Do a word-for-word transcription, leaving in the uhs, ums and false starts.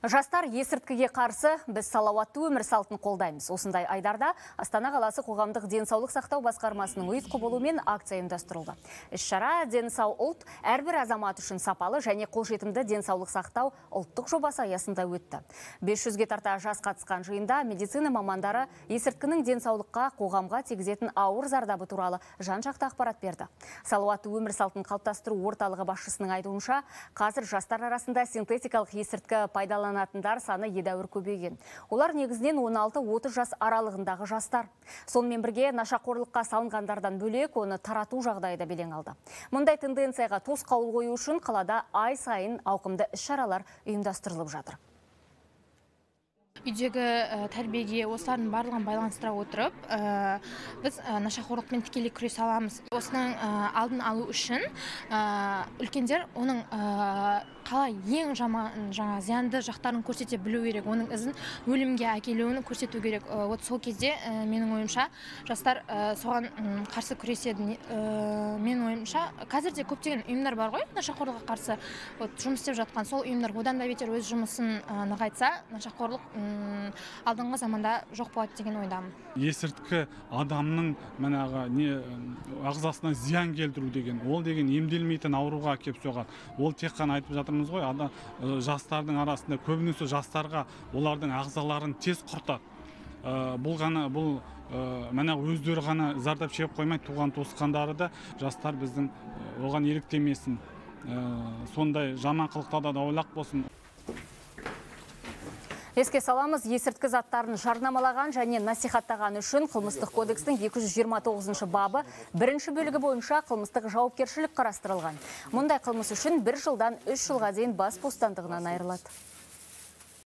Жастар есірткіге қарсы біз салауатты өмір салтын қолдаймыз. Осындай айдарда Астана қаласы қоғамдық денсаулық сақтау басқармасының ұйытқы болуымен акция ұйымдастырылды. Іс-шара «Дені сау ұлт» әрбір азамат үшін сапалы және қолжетімді денсаулық сақтау ұлттық жобасы аясында өтті. бес жүзге тарта жас қатысқан жиында медицина мамандары есірткінің денсаулыққа, қоғамға тигізетін ауыр зардабы туралы жан-жақты ақпарат берді. Салауатты өмір салтын қалыптастыру орталығы басшысының айтуынша, қазір жастар арасында синтетикалық есірткі пайдаланатындар саны едәуір көбейген. Олар негізінен он алты отыз жас аралығындағы жастар. Сонымен бірге нашақорлыққа салынғандардан бөлек оны тарату жағдайы да белең алды. Мұндай тенденцияға тосқауыл қою үшін қалада ай сайын ауқымды іс-шаралар ұйымдастырылып жатыр. Үйдегі тәрбиеге осылардың барлығын байланыстыра отырып, біз нашақорлықпен тікелей күресе аламыз. Осының алдын алу үшін үлкендер оның қалай ең жаман жаңа зиянды жақтарын көрсете білу керек, оның ізін өлімге әкелуін көрсету керек. Вот сол кезде менің ойымша жастар соған қарсы күреседі. Менің ойымша қазірде көптеген ұйымдар бар ғой, нашақорлыққа қарсы жұмыс істеп жатқан. Сол ұйымдар одан да бетер өз жұмысын нығайтса, нашақорлық алдыңғы заманда жоқ болады деген ойдамын. Есірткі адамның манағы не ағзасына зиян келтіру деген, ол деген емделмейтін ауруға әкеп соғады. Ол тек қана айтып жатырмыз ғой, ада жастардың арасында көбінесе жастарға олардың ағзаларын тез құртады. Бұл ғана бұл мына өздері ғана зардап шегіп қоймай, туған туысқандары да жастар біздің оған еліктемесін. Сондай жаман қылықтарда да аулақ болсын. Еске саламыз, есірткі заттарын жарнамалаған және насихаттаған үшін қылмыстық кодекстің екі жүз жиырма тоғызыншы бабы бірінші бөлігі бойынша қылмыстық жауапкершілік қарастырылған. Мұндай қылмыс үшін бір жылдан үш жылға дейін бас бостандығынан айырылады.